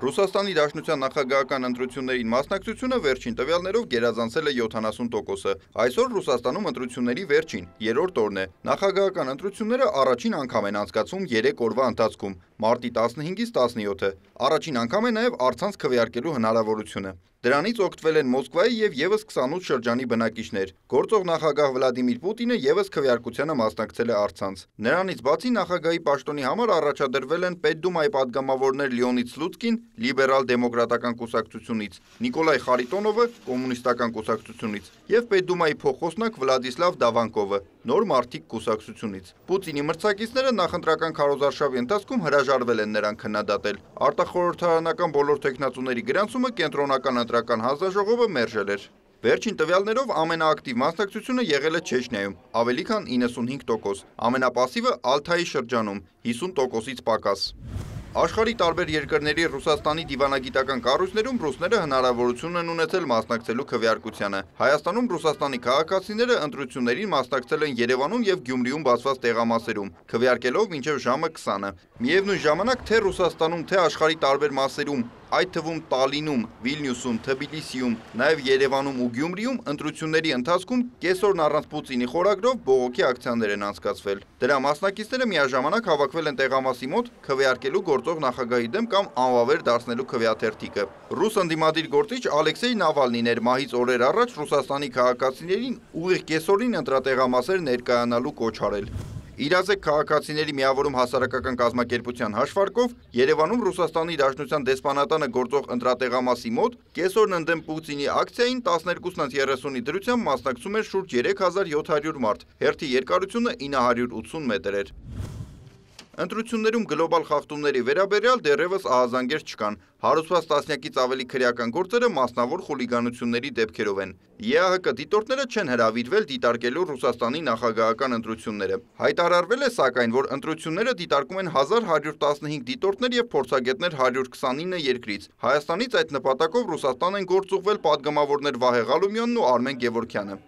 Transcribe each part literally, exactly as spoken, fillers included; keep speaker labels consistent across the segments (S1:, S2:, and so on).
S1: Ռուսաստանի Դաշնության նախագահական ընտրություններին մասնակցությունը վերջին տվյալներով գերազանցել է յոթանասուն տոկոսը։ Այսօր Ռուսաստանում ընտրությունների վերջին, երրորդ օրն է։ Նախագահական ընտրությունները առաջին անգամ են անցկացվում երեք օրվա ընթացքում՝ մարտի տասնհինգից տասնյոթը։ Առաջին անգամ է նաև առցանց քվեարկելու հնարավորությունը։ Դրանից օգտվել են Մոսկվայի եւ եւս քսանութ շրջանի բնակիչներ։ Գործող նախագահ Վլադիմիր Պուտինը եւս քվեարկությանը մասնակցել է առցանց։ Նրանից բացի նախագահի պաշտոնի համար առաջադրվել են Պետդումայի падգամավորներ Լեոնիդ Սլուցկին լիբերալ-դեմոկրատական կուսակցությունից, Նիկոլայ Խարիտոնովը կոմունիստական կուսակցությունից եւ Պետդումայի փոխոսնակ Վլադիսլավ Դավանկովը նոր մարդիկ կուսակցությունից։ Պուտինի մրցակիցները նախընտրական քարոզարշավի ընթացքում հրաժարվել են նրան քննադատել։ Արտախորհրդարանական բոլոր տեխնացուների գրանցումը կենտրոնական ընտրական հանձնաժողովը մերժել էր։ Վերջին տվյալներով ամենաակտիվ մասնակցությունը եղել է Չեչնիայում՝ ավելի քան իննսունհինգ տոկոս, ամենապասիվը Ալթայի շրջանում՝ հիսուն տոկոսից պակաս։ Աշխարհի տարբեր երկրների Ռուսաստանի դիվանագիտական կառույցներում ռուսները հնարավորություն են ունեցել մասնակցելու քվեարկությանը։ Հայաստանում Ռուսաստանի քաղաքացիները ընտրություններին մասնակցել են Երևանում եւ Գյումրիում բացված տեղամասերում, քվեարկելով մինչև ժամը քսանը։ Միևնույն ժամանակ թե Ռուսաստանում, թե աշխարհի տարբեր մասերում, այդ թվում Տալինում, Վիլնյուսում, Թբիլիսիում, նաև Երևանում ու Գյումրիում ընտրությունների ընթացքում կեսօրն առանց Պուտինի խորագրով բողոքի ակցիաներ են անցկացվել։ Դրա մասնակիցները միաժամանակ հավաքվել են տեղամասի մոտ քվեարկելու գործող նախագահի դեմ կամ անվավեր դարձնելու քվեաթերթիկը։ Ռուս ընդդիմադիր գործիչ Ալեքսեյ Նավալնին էր մահից օրեր առաջ Ռուսաստանի քաղաքացիներին ուղիղ կեսօրին ընտրատեղամասեր ներկայանալու կոչ արել։ Իրազեկ քաղաքացիների միավորում հասարակական կազմակերպության հաշվարկով Երևանում Ռուսաստանի Դաշնության դեսպանատանը գործող ընտրատեղամասի մոտ կեսօրն ընդդեմ Պուտինի ակցիային տասներկուսից երեսունի դրությամբ մասնակցում էր շուրջ երեք հազար յոթ հարյուր մարդ, հերթի երկարությունը ինը հարյուր ութսուն մետր էր։ Ընտրություններում գլոբալ խախտումների վերաբերյալ դեռևս ահազանգեր չկան։ Հարուցված տասնյակից ավելի քրեական գործերը մասնավոր խուլիգանությունների դեպքերով են։ ԵԱՀԿ դիտորդները չեն հրավիրվել դիտարկելու Ռուսաստանի նախագահական ընտրությունները։ Հայտարարվել է սակայն, որ ընտրությունները դիտարկում են հազար հարյուր տասնհինգ դիտորդներ եւ փորձագետներ հարյուր քսանինը երկրից։ Հայաստանից այդ նպատակով Ռուսաստան են գործուղվել падգամավորներ Վահե Ղալումյանն ու Արմեն Գևորգյանը։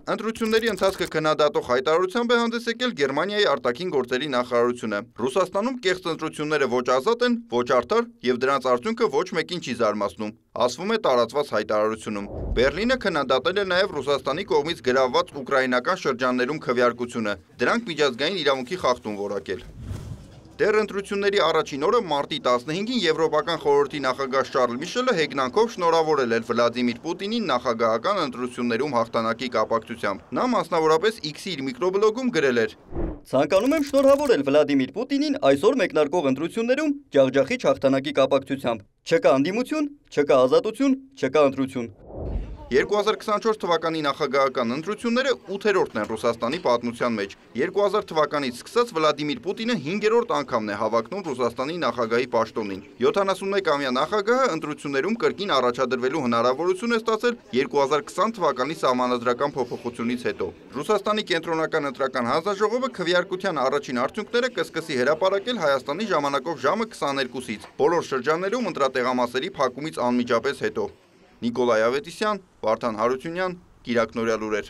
S1: Ընտրությունների ընթացքը քննադատող հայտարարությամբ է հանդես եկել Գերմանիայի արտաքին գործերի նախարարությունը։ Ռուսաստանում կեղծ ընտրությունները ոչ ազատ են, ոչ արդար եւ դրանց արդյունքը ոչ մեկին չի զարմացնում, ասվում է տարածված հայտարարությունում։ Բեռլինը քննադատել է նաեւ Ռուսաստանի կողմից գրավված ուկրաինական շրջաններում քվեարկությունը, դրանք միջազգային իրավունքի խախտում որակել։ Դեռ ընտրությունների առաջին օրը մարտի տասնհինգին Եվրոպական խորհրդի նախագահ Շարլ Միշելը հեգնանքով շնորհավորել էր Վլադիմիր Պուտինին նախագահական ընտրություններում հաղթանակի կապակցությամբ։ Նա մասնավորապես X-ի իր միկրոբլոգում գրել էր.
S2: Ցանկանում եմ շնորհավորել Վլադիմիր Պուտինին այսօր մեկնարկող ընտրություններում ջախջախիչ հաղթանակի կապակցությամբ։ Չկա անդիմություն, չկա ազատություն, չկա ընտրություն։
S1: երկու հազար քսանչորս թվականի նախագահական ընտրությունները ութերորդն են Ռուսաստանի պատմության մեջ։ երկու հազար թվականից սկսած Վլադիմիր Պուտինը հինգերորդ անգամն է հավակնում Ռուսաստանի նախագահի պաշտոնին։ յոթանասունմեկ-ամյա նախագահը ընտրություններում կրկին առաջադրվելու հնարավորություն է ստացել երկու հազար քսան թվականի սահմանադրական փոփոխությունից հետո։ Ռուսաստանի կենտրոնական ընտրական հանձնաժողովը քվեարկության առաջին արդյունքները կսկսի հրապարակել Հայաստանի ժամանակով ժամը քսաներկուսից, բոլոր շրջաններում ընտրատեղամասերի փակումից անմիջապես հետո։ Նիկոլայ Ավետիսյան, Վարդան Հարությունյան, Կիրակնորյալ լուրեր։